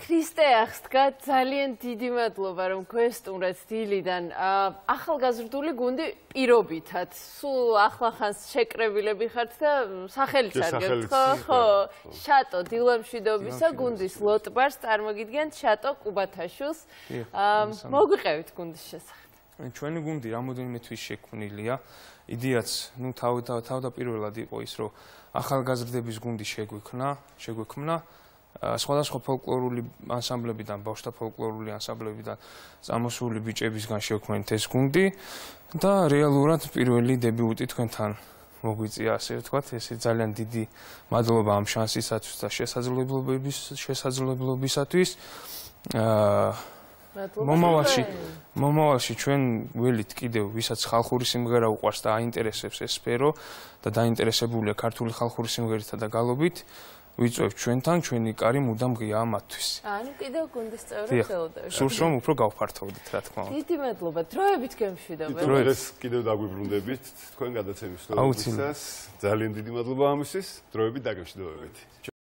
ქრისტე აღსდგა ძალიან დიდი მადლობა რომ გვესტუმრეთ დილიდან ახალგაზრდული გუნდი პირობითად სულ ახლახანს შეკრებილები ხართ და სახელიც არგებთ ხო შატო დილამშვიდობისა გუნდის ლოტბარს წარმოგიდგენთ შატო კუბათაშვილს მოგვიყევით გუნდის შესახებ ჩვენი გუნდი რამოდენიმე თვის შექმნილია იდეაც ნუ თავდაპირველად იყო ის რომ ახალგაზრდების გუნდი შეგვექმნა სხვადასხვა ფოლკლორული ანსამბლებიდან, ბავშვთა ფოლკლორული ანსამბლებიდან წამოსული ბიჭებისგან შევქმნით ეს გუნდი და რეალურად პირველი დებიუტი თქვენთან მოგვიწია, ასე ვთქვათ, ეს ძალიან დიდი მადლობა ამ შანსისათვის და შესაძლებლობისათვის. მომავალში ჩვენ ველით კიდევ ვისაც ხალხური სიმღერა უყვარს და აინტერესებს ეს სფერო და დაინტერესებულია ქართული ხალხური სიმღერითა და გალობით ვიწევთ ჩვენთან, ჩვენი კარი მუდამ ღიაა მათთვის. ანუ კიდევ გუნდის წევრად ხელოდებით. სურს რომ უფრო გავფართოვდეთ, რა თქმა უნდა. დიდი მადლობა. დროებით გემშვიდობებით. დღეს კიდევ დაგვიბრუნდებით თქვენ გადაცემის სტუდიისას. ძალიან დიდი მადლობა ამისთვის. დროებით დაგემშვიდობებით.